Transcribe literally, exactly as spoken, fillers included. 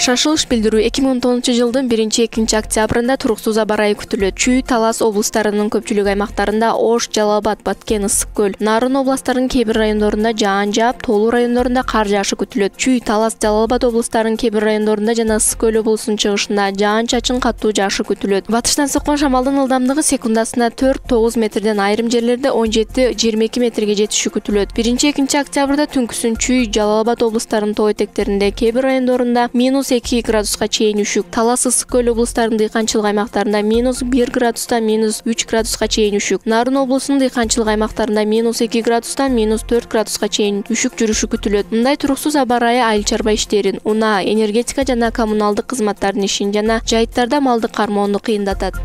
Шашылыш билдирүү эки миң он тогузунчу жылдын биринчи экинчи октябрында туруксуз аба ырайы күтүлөт. Чүй, Талас облустарынын көпчүлүк аймактарында Ош, Жалал-Абад, Баткен, Ысык көл, Нарын областарынын кээ бир райондорунда жаан жаап, Тоолу райондорунда кар жаашы күтүлөт. Чүй, Талас, Жалал-Абад облустарынын кээ бир райондорунда жана Ысык көл облусунун чыгышында жаан-чачын катуу жаашы күтүлөт. Батыштан соккон шамалдын ылдамдыгы секундасына төрт тогуз метрден, айрым жерлерде он жети жыйырма эки метрге жетиши күтүлөт. биринчи экинчи октябрда түнкүсүн Чүй, Жалал-Абад облустарынын тоо этектеринде кээ бир райондорунда минус эки градуска чейин үшүк, Талас, Ысык көл облустарынын дыйканчылык аймактарында минус бир градустан минус үч градуска чейин үшүк, Нарын облусунун дыйканчылык аймактарында минус эки градустан минус төрт градуска чейин үшүк жүрүшү күтүлөт. Мындай туруксуз аба ырайы айыл чарба иштерин, унаа, энергетика жана коммуналдык кызматтардын ишин жана жайыттарда малды кармоону кыйындатат.